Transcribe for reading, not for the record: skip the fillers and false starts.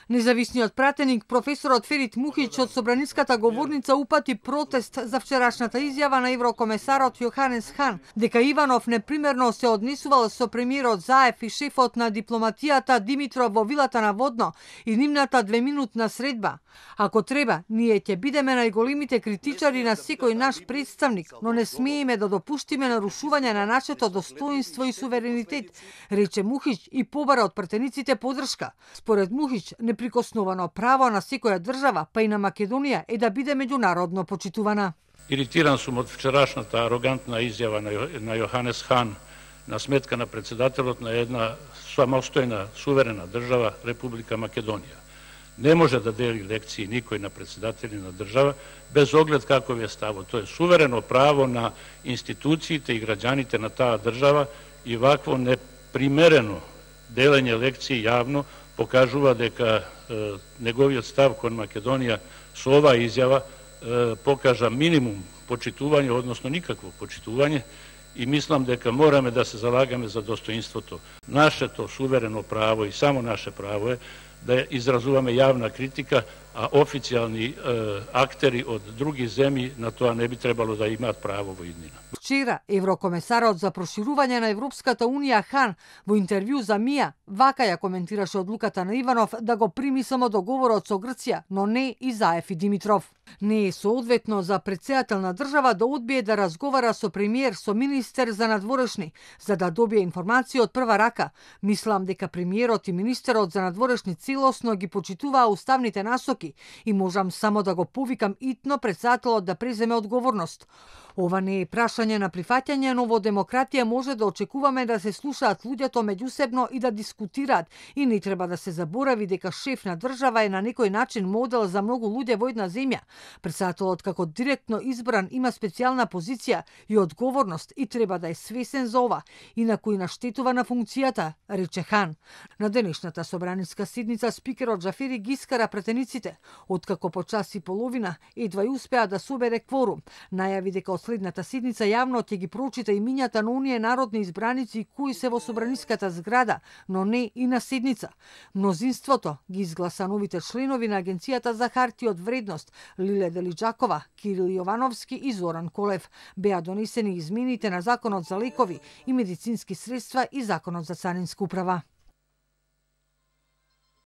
Независниот пратеник професорот Ферит Мухич од собраниската говорница упати протест за вчерашната изјава на еврокомесарот Јоханес Хан дека Иванов непримерно се однесувал со премиерот Заев и шефот на дипломатијата Димитров во вилата на Водно и нивната 2-минутна средба. Ако треба, ние ќе бидеме најголемите критичари на секој наш представник, но не смееме да допуштиме нарушување на нашето достоинство и суверенитет, рече Мухич и побара од пратениците поддршка. Според Мухич, неприкосновано право на секоја држава, па и на Македонија, е да биде меѓународно почитувана. Иритиран сум од вчерашната арогантна изјава на Јоханес Хан на сметка на председателот на една самостојна суверена држава, Република Македонија. Не може да дели лекции никој на председатели на држава без оглед каков е ставот. Тоа е суверено право на институциите и граѓаните на таа држава и вакво непримерено делење лекции јавно покажува дека неговиот став кон Македонија со оваа изјава покажа минимум почитување, односно никакво почитување, и мислам дека мораме да се залагаме за достоинството. Нашето суверено право и само наше право е да изразуваме јавна критика, а официјални актери од други земји на тоа не би требало да имаат право во иднина. Вчера, еврокомесарот за проширување на Европската Унија Хан во интервју за МИА вака ја коментираше одлуката на Иванов да го прими само договорот со Грција, но не и Заев и Димитров. Не е соодветно за претседател на држава да одбие да разговара со премиер, со министер за надворешни, за да добие информации од прва рака. Мислам дека премиерот и министерот за надворешни целосно ги почитуваа уставните насоки и можам само да го повикам итно претседателот да преземе одговорност. Ова не е прашање на прифаќање, но во демократија може да очекуваме да се слушаат луѓето меѓусебно и да дискутираат. И не треба да се заборави дека шеф на држава е на некој начин модел за многу луѓе во една земја. Претседателот како директно избран има специјална позиција и одговорност и треба да е свесен за ова, инаку и наштетува на функцијата, рече Хан. На денешната собраниска седница спикерот Џафери ги искара пратениците, откако по час и половина едва и успеа да собере кворум. Најави дека од следната седница јавно ќе ги прочита имињата на оние народни избраници кои се во собраниската зграда, но не и на седница. Мнозинството ги изгласа новите членови на Агенцијата за хартија од вредност, Лиле Делиџакова, Кирил Јовановски и Зоран Колев. Беа донесени измените на Законот за лекови и медицински средства и Законот за царинска управа.